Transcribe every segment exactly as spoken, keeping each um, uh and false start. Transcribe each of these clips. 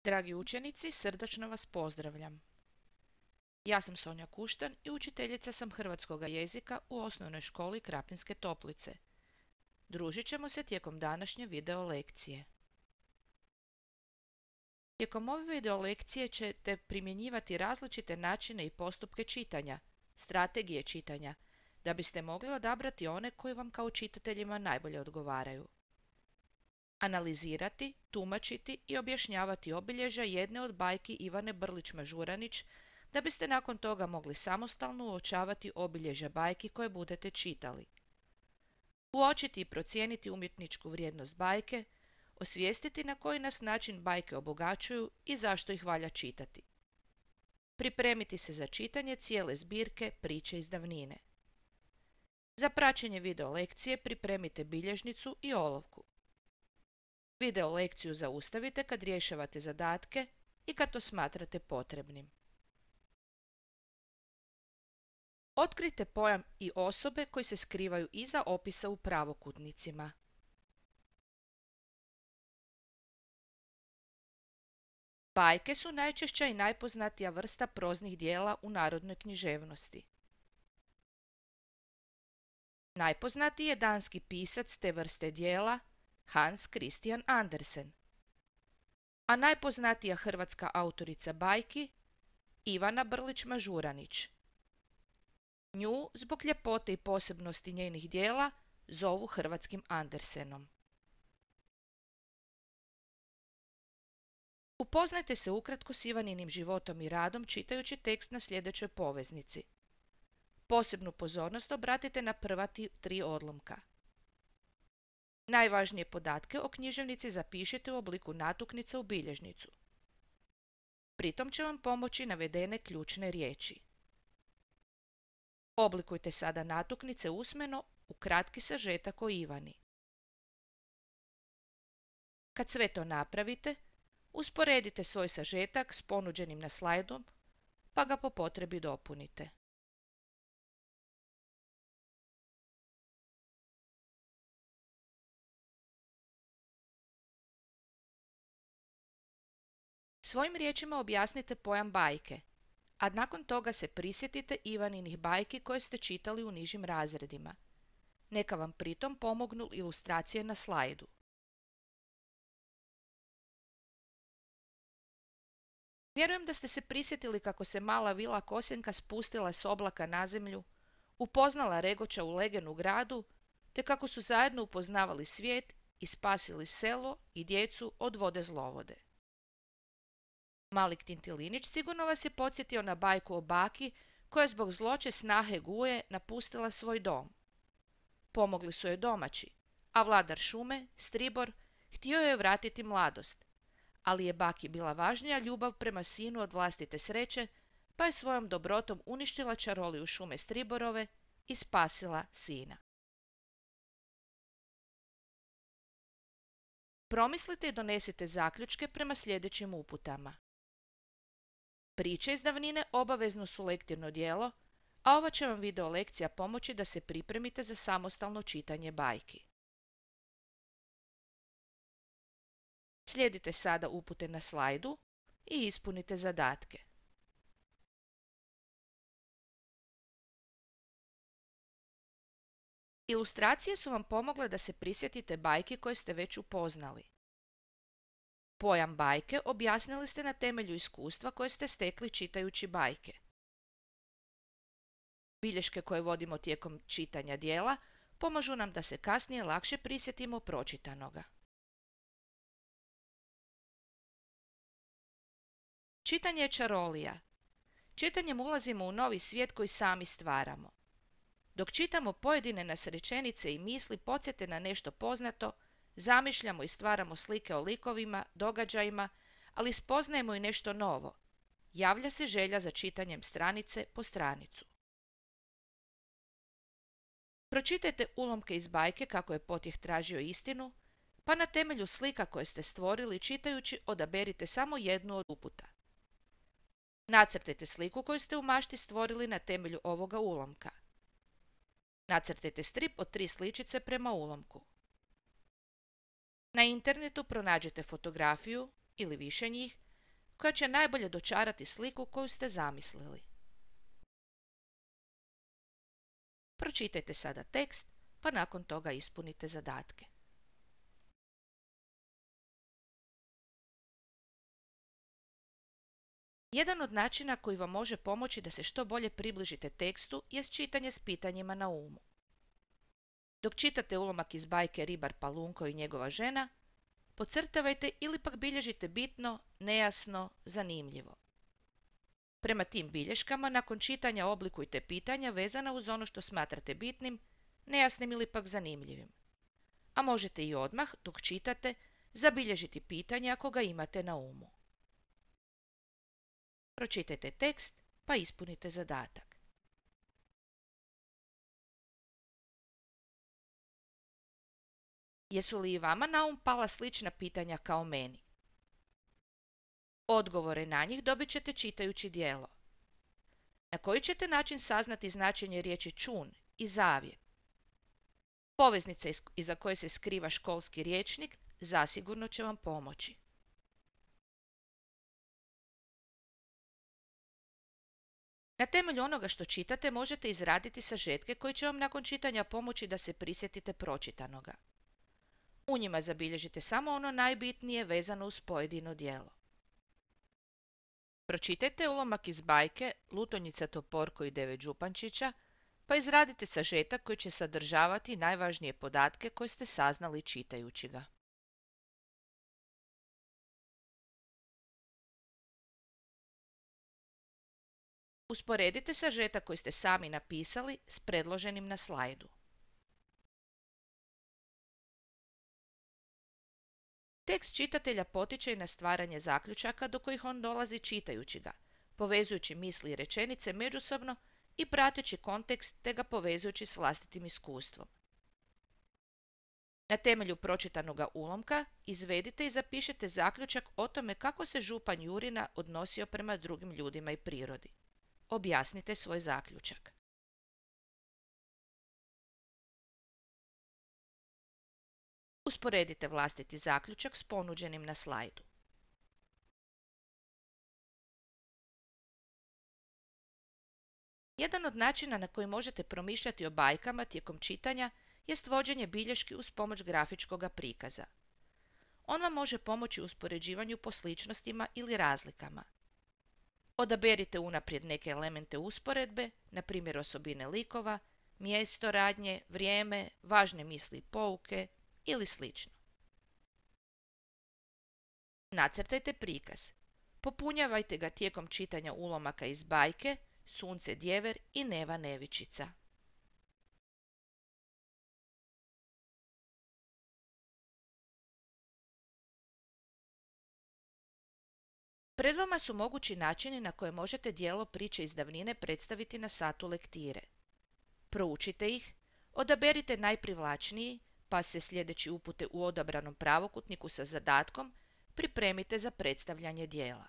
Dragi učenici, srdačno vas pozdravljam. Ja sam Sonja Kuštan i učiteljica sam hrvatskoga jezika u osnovnoj školi Krapinske Toplice. Družit ćemo se tijekom današnje video lekcije. Tijekom ove video lekcije ćete primjenjivati različite načine i postupke čitanja, strategije čitanja, da biste mogli odabrati one koji vam kao čitateljima najbolje odgovaraju. Analizirati, tumačiti i objašnjavati obilježja jedne od bajki Ivane Brlić-Mažuranić, da biste nakon toga mogli samostalno uočavati obilježja bajki koje budete čitali. Uočiti i procijeniti umjetničku vrijednost bajke, osvijestiti na koji nas način bajke obogaćuju i zašto ih valja čitati. Pripremiti se za čitanje cijele zbirke Priče iz davnine. Za praćenje video lekcije pripremite bilježnicu i olovku. Video lekciju zaustavite kad rješavate zadatke i kad to smatrate potrebnim. Otkrite pojam i osobe koji se skrivaju iza opisa u pravokutnicima. Bajke su najčešća i najpoznatija vrsta proznih dijela u narodnoj književnosti. Najpoznatiji je danski pisac te vrste dijela Hans Christian Andersen, a najpoznatija hrvatska autorica bajki Ivana Brlić-Mažuranić. Nju, zbog ljepote i posebnosti njenih dijela, zovu hrvatskim Andersenom. Upoznajte se ukratko s Ivaninim životom i radom čitajući tekst na sljedećoj poveznici. Posebnu pozornost obratite na prva tri odlomka. Najvažnije podatke o književnici zapišite u obliku natuknica u bilježnicu. Pritom će vam pomoći navedene ključne riječi. Oblikujte sada natuknice usmeno u kratki sažetak o Ivani. Kad sve to napravite, usporedite svoj sažetak s ponuđenim na slajdu, pa ga po potrebi dopunite. Svojim riječima objasnite pojam bajke, a nakon toga se prisjetite Ivaninih bajki koje ste čitali u nižim razredima. Neka vam pritom pomognu ilustracije na slajdu. Vjerujem da ste se prisjetili kako se mala vila Kosenka spustila s oblaka na zemlju, upoznala Regoča u legenu gradu, te kako su zajedno upoznavali svijet i spasili selo i djecu od vode zlovode. Mali Tintilinić sigurno vas je podsjetio na bajku o baki koja zbog zloće snahe Guje napustila svoj dom. Pomogli su joj domaći, a vladar šume, Stribor, htio joj vratiti mladost, ali je baki bila važnija ljubav prema sinu od vlastite sreće, pa je svojom dobrotom uništila čaroliju šume Striborove i spasila sina. Promislite i donesite zaključke prema sljedećim uputama. Priče iz davnine obavezno su lektirno djelo, a ova će vam video lekcija pomoći da se pripremite za samostalno čitanje bajki. Slijedite sada upute na slajdu i ispunite zadatke. Ilustracije su vam pomogle da se prisjetite bajki koje ste već upoznali. Pojam bajke objasnili ste na temelju iskustva koje ste stekli čitajući bajke. Bilješke koje vodimo tijekom čitanja dijela pomažu nam da se kasnije lakše prisjetimo pročitanoga. Čitanje je čarolija. Čitanjem ulazimo u novi svijet koji sami stvaramo. Dok čitamo, pojedine nas rečenice i misli podsjete na nešto poznato, zamišljamo i stvaramo slike o likovima, događajima, ali spoznajemo i nešto novo. Javlja se želja za čitanjem stranice po stranicu. Pročitajte ulomke iz bajke kako je potjeh tražio istinu, pa na temelju slika koje ste stvorili čitajući odaberite samo jednu od uputa. Nacrtajte sliku koju ste u mašti stvorili na temelju ovoga ulomka. Nacrtajte strip od tri sličice prema ulomku. Na internetu pronađete fotografiju ili više njih koja će najbolje dočarati sliku koju ste zamislili. Pročitajte sada tekst, pa nakon toga ispunite zadatke. Jedan od načina koji vam može pomoći da se što bolje približite tekstu jest čitanje s pitanjima na umu. Dok čitate ulomak iz bajke Ribar Palunko i njegova žena, podcrtavajte ili pak bilježite bitno, nejasno, zanimljivo. Prema tim bilješkama, nakon čitanja oblikujte pitanja vezana uz ono što smatrate bitnim, nejasnim ili pak zanimljivim. A možete i odmah, dok čitate, zabilježiti pitanje ako ga imate na umu. Pročitajte tekst, pa ispunite zadatak. Jesu li i vama na um pala slična pitanja kao meni? Odgovore na njih dobit ćete čitajući djelo. Na koji ćete način saznati značenje riječi čun i zavjet? Poveznica iza koje se skriva školski rječnik zasigurno će vam pomoći. Na temelju onoga što čitate možete izraditi sažetke koji će vam nakon čitanja pomoći da se prisjetite pročitanoga. U njima zabilježite samo ono najbitnije vezano uz pojedino djelo. Pročitajte ulomak iz bajke Lutonjica, Toporko i devet župančića, pa izradite sažetak koji će sadržavati najvažnije podatke koje ste saznali čitajući ga. Usporedite sažetak koji ste sami napisali s predloženim na slajdu. Tekst čitatelja potiče i na stvaranje zaključaka do kojih on dolazi čitajući ga, povezujući misli i rečenice međusobno i prateći kontekst te ga povezujući s vlastitim iskustvom. Na temelju pročitanoga ulomka izvedite i zapišite zaključak o tome kako se župan Jurina odnosio prema drugim ljudima i prirodi. Objasnite svoj zaključak. Usporedite vlastiti zaključak s ponuđenim na slajdu. Jedan od načina na koji možete promišljati o bajkama tijekom čitanja jest vođenje bilješki uz pomoć grafičkog prikaza. On vam može pomoći u uspoređivanju po sličnostima ili razlikama. Odaberite unaprijed neke elemente usporedbe, na primjer osobine likova, mjesto radnje, vrijeme, važne misli i pouke ili slično. Nacrtajte prikaz. Popunjavajte ga tijekom čitanja ulomaka iz bajke Sunce Djever i Neva Nevičica. Pred vama su mogući načini na koje možete djelo priče iz davnine predstaviti na satu lektire. Proučite ih, odaberite najprivlačniji, pa se sljedeći upute u odabranom pravokutniku sa zadatkom pripremite za predstavljanje djela.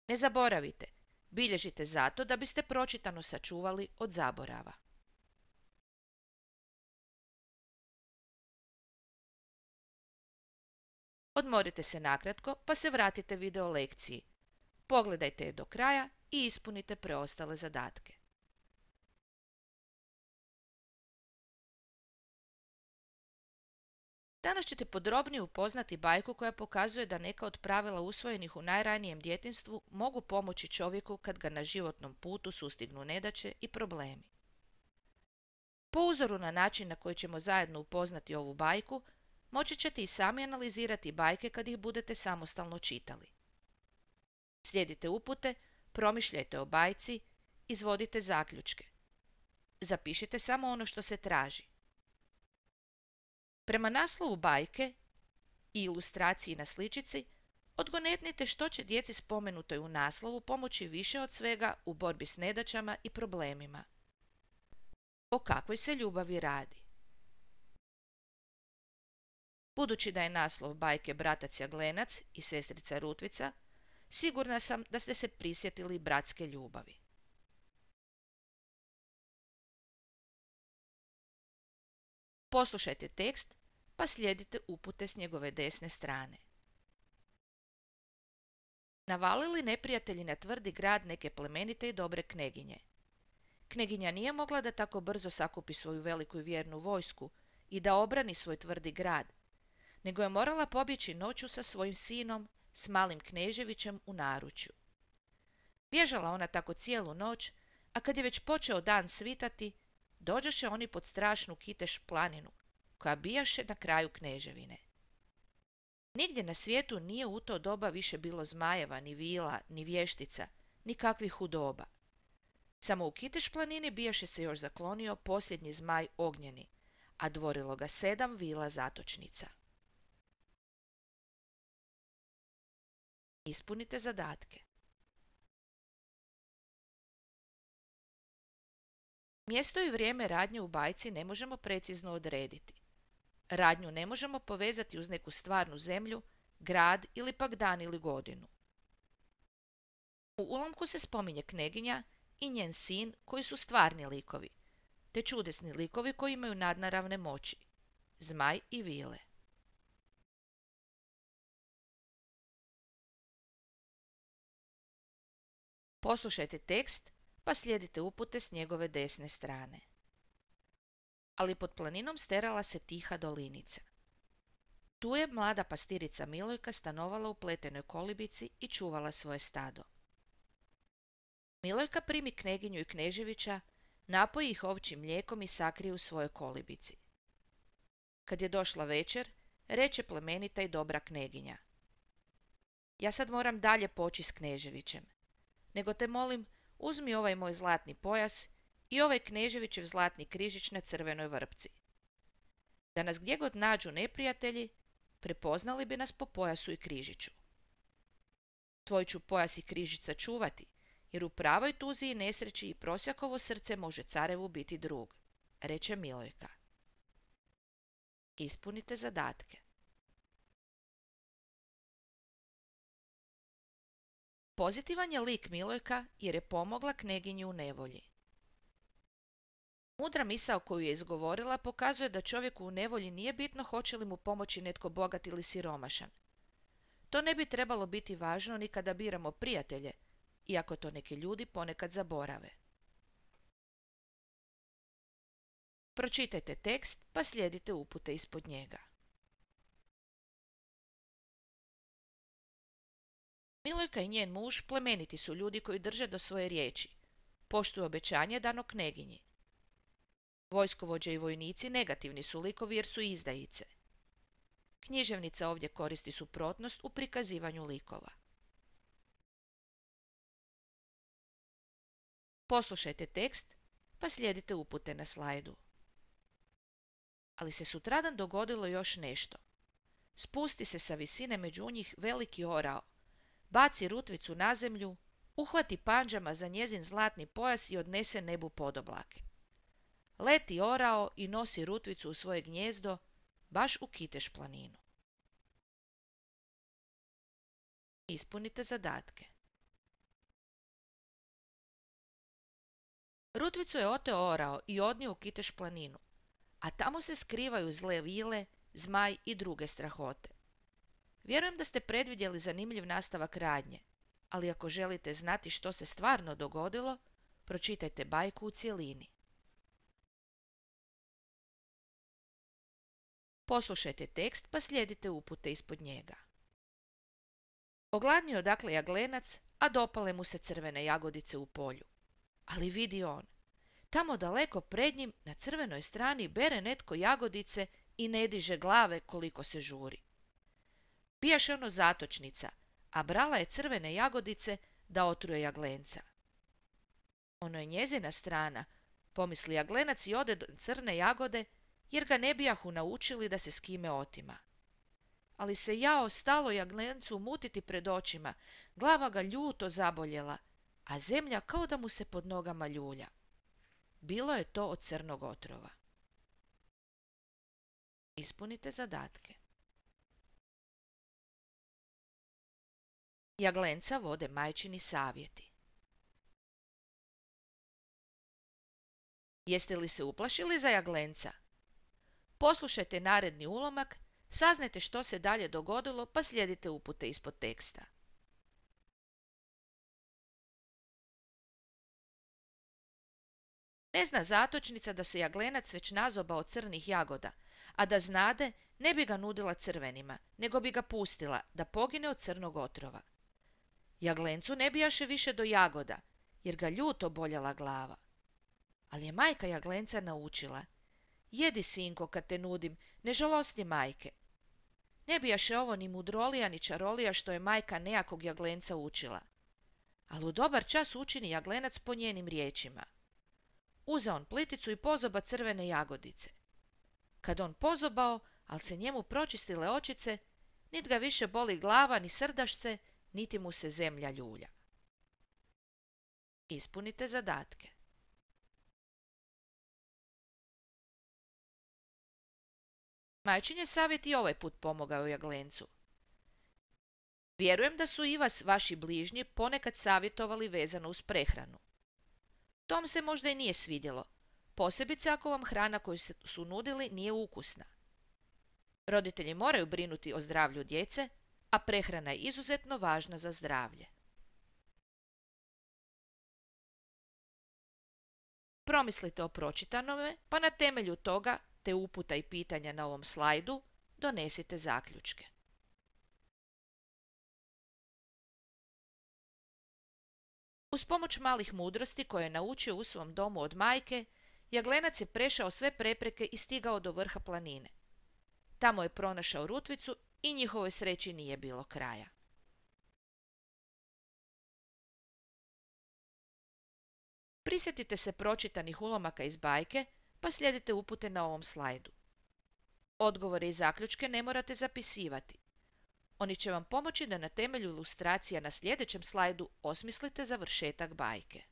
Ne zaboravite, bilježite zato da biste pročitano sačuvali od zaborava. Odmorite se nakratko pa se vratite video lekciji. Pogledajte je do kraja i ispunite preostale zadatke. Danas ćete podrobnije upoznati bajku koja pokazuje da neka od pravila usvojenih u najranijem djetinjstvu mogu pomoći čovjeku kad ga na životnom putu sustignu nedaće i problemi. Po uzoru na način na koji ćemo zajedno upoznati ovu bajku, moći ćete i sami analizirati bajke kad ih budete samostalno čitali. Slijedite upute, promišljajte o bajci, izvodite zaključke. Zapišite samo ono što se traži. Prema naslovu bajke i ilustraciji na sličici, odgonetnite što će djeci spomenutoj u naslovu pomoći više od svega u borbi s nedaćama i problemima. O kakvoj se ljubavi radi? Budući da je naslov bajke Bratac Jaglenac i sestrica Rutvica, sigurna sam da ste se prisjetili bratske ljubavi. Poslušajte tekst, pa slijedite upute s njegove desne strane. Navalili neprijatelji na tvrdi grad neke plemenite i dobre kneginje. Kneginja nije mogla da tako brzo sakupi svoju veliku i vjernu vojsku i da obrani svoj tvrdi grad, nego je morala pobjeći noću sa svojim sinom, s malim kneževićem u naručju. Bježala ona tako cijelu noć, a kad je već počeo dan svitati, dođoše oni pod strašnu Kiteš planinu, koja bijaše na kraju kneževine. Nigdje na svijetu nije u to doba više bilo zmajeva, ni vila, ni vještica, ni kakvih hudoba. Samo u Kiteš planini bijaše se još zaklonio posljednji zmaj ognjeni, a dvorilo ga sedam vila zatočnica. Ispunite zadatke. Mjesto i vrijeme radnje u bajci ne možemo precizno odrediti. Radnju ne možemo povezati uz neku stvarnu zemlju, grad ili pak dan ili godinu. U ulomku se spominje kneginja i njen sin koji su stvarni likovi, te čudesni likovi koji imaju nadnaravne moći, zmaj i vile. Poslušajte tekst pa slijedite upute s njegove desne strane. Ali pod planinom sterala se tiha dolinica. Tu je mlada pastirica Milojka stanovala u pletenoj kolibici i čuvala svoje stado. Milojka primi kneginju i kneževića, napoji ih ovčjim mlijekom i sakrije u svojoj kolibici. Kad je došla večer, reče plemenita i dobra kneginja: Ja sad moram dalje poći s kneževićem, nego te molim, uzmi ovaj moj zlatni pojas i ovaj kneževićev zlatni križić na crvenoj vrpci. Da nas gdje god nađu neprijatelji, prepoznali bi nas po pojasu i križiću. Tvoj ću pojas i križić sačuvati, jer u pravoj tuzi i nesreći i prosjakovo srce može carevu biti drug, reče Milojka. Ispunite zadatke. Pozitivan je lik Milojka jer je pomogla kneginji u nevolji. Mudra misao koju je izgovorila pokazuje da čovjeku u nevolji nije bitno hoće li mu pomoći netko bogat ili siromašan. To ne bi trebalo biti važno ni kada biramo prijatelje, iako to neki ljudi ponekad zaborave. Pročitajte tekst pa slijedite upute ispod njega. Milojka i njen muž plemeniti su ljudi koji drže do svoje riječi, poštuju obećanje dano kneginji. Vojskovođe i vojnici negativni su likovi jer su izdajice. Književnica ovdje koristi suprotnost u prikazivanju likova. Poslušajte tekst pa slijedite upute na slajdu. Ali se sutradan dogodilo još nešto. Spusti se sa visine među njih veliki orao, baci rutvicu na zemlju, uhvati panđama za njezin zlatni pojas i odnese nebu podoblake. Leti orao i nosi rutvicu u svoje gnjezdo, baš u Kiteš planinu. Ispunite zadatke. Rutvicu je oteo orao i odnio u Kiteš planinu, a tamo se skrivaju zle vile, zmaj i druge strahote. Vjerujem da ste predvidjeli zanimljiv nastavak radnje, ali ako želite znati što se stvarno dogodilo, pročitajte bajku u cjelini. Poslušajte tekst pa slijedite upute ispod njega. Ogladnio dakle jaglenac, a dopale mu se crvene jagodice u polju. Ali vidi on, tamo daleko pred njim na crvenoj strani bere netko jagodice i ne diže glave koliko se žuri. Bijaše ono zatočnica, a brala je crvene jagodice da otruje jaglenca. Ono je njezina strana, pomisli jaglenac i ode do crne jagode, jer ga ne bijahu naučili da se s kime otima. Ali se jao stalo jaglencu mutiti pred očima, glava ga ljuto zaboljela, a zemlja kao da mu se pod nogama ljulja. Bilo je to od crnog otrova. Ispunite zadatke. Jaglenca vode majčini savjeti. Jeste li se uplašili za jaglenca? Poslušajte naredni ulomak, saznajte što se dalje dogodilo pa slijedite upute ispod teksta. Ne zna zatočnica da se jaglenac već nazobao crnih jagoda, a da znade ne bi ga nudila crvenima, nego bi ga pustila da pogine od crnog otrova. Jaglencu ne bijaše više do jagoda, jer ga ljuto boljela glava. Ali je majka jaglenca naučila: jedi, sinko, kad te nudim, ne žalosti majke. Ne bijaše ovo ni mudrolija ni čarolija što je majka nejakog jaglenca učila. Ali u dobar čas učini jaglenac po njenim riječima. Uze on pliticu i pozoba crvene jagodice. Kad on pozobao, al se njemu pročistile očice, nit ga više boli glava ni srdašce, niti mu se zemlja ljulja. Ispunite zadatke. Majčin je savjet i ovaj put pomogao jaglencu. Vjerujem da su i vas vaši bližnji ponekad savjetovali vezano uz prehranu. Tom se možda i nije svidjelo, posebice ako vam hrana koju su nudili nije ukusna. Roditelji moraju brinuti o zdravlju djece, a prehrana je izuzetno važna za zdravlje. Promislite o pročitanome, pa na temelju toga, te uputa i pitanja na ovom slajdu, donesite zaključke. Uz pomoć malih mudrosti koje je naučio u svom domu od majke, jaglenac je prešao sve prepreke i stigao do vrha planine. Tamo je pronašao rutvicu i njihovoj sreći nije bilo kraja. Prisjetite se pročitanih ulomaka iz bajke, pa slijedite upute na ovom slajdu. Odgovore i zaključke ne morate zapisivati. Oni će vam pomoći da na temelju ilustracija na sljedećem slajdu osmislite završetak bajke.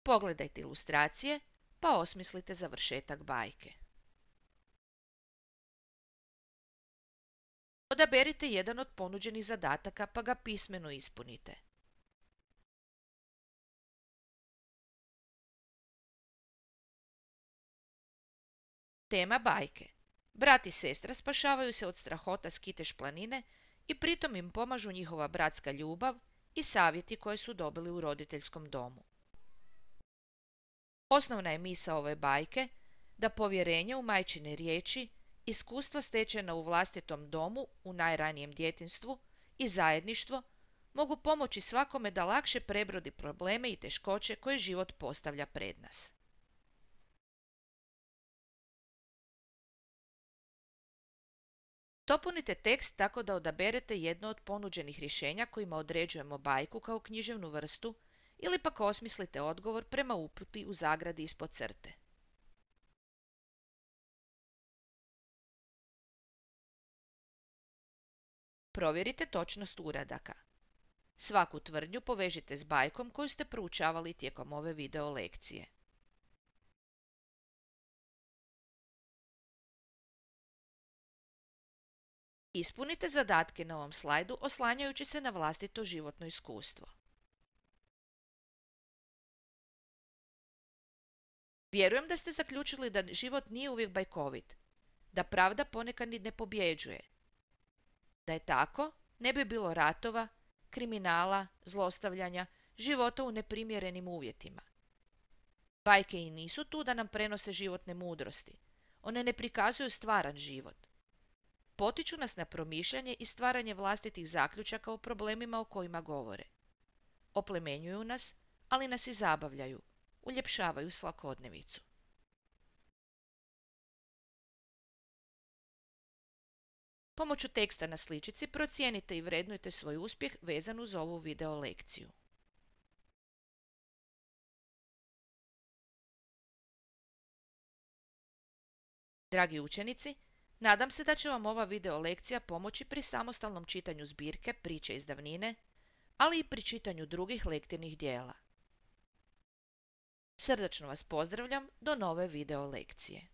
Pogledajte ilustracije, pa osmislite završetak bajke. Odaberite jedan od ponuđenih zadataka pa ga pismeno ispunite. Tema bajke. Brat i sestra spašavaju se od strahota s Kiteš planine i pritom im pomažu njihova bratska ljubav i savjeti koje su dobili u roditeljskom domu. Osnovna je misao ove bajke da povjerenje u majčine riječi, iskustva stečena u vlastitom domu u najranijem djetinjstvu i zajedništvo mogu pomoći svakome da lakše prebrodi probleme i teškoće koje život postavlja pred nas. Dopunite tekst tako da odaberete jedno od ponuđenih rješenja kojima određujemo bajku kao književnu vrstu ili pak osmislite odgovor prema uputi u zagradi ispod crte. Provjerite točnost uradaka. Svaku tvrdnju povežite s bajkom koju ste proučavali tijekom ove video lekcije. Ispunite zadatke na ovom slajdu oslanjajući se na vlastito životno iskustvo. Vjerujem da ste zaključili da život nije uvijek bajkovit, da pravda ponekad i ne pobjeđuje. Da je tako, ne bi bilo ratova, kriminala, zlostavljanja, života u neprimjerenim uvjetima. Bajke i nisu tu da nam prenose životne mudrosti. One ne prikazuju stvaran život. Potiču nas na promišljanje i stvaranje vlastitih zaključaka o problemima o kojima govore. Oplemenjuju nas, ali nas i zabavljaju, uljepšavaju svakodnevicu. Pomoću teksta na sličici procijenite i vrednujte svoj uspjeh vezan uz ovu video lekciju. Dragi učenici, nadam se da će vam ova video lekcija pomoći pri samostalnom čitanju zbirke Priče iz davnine, ali i pri čitanju drugih lektirnih dijela. Srdačno vas pozdravljam do nove video lekcije.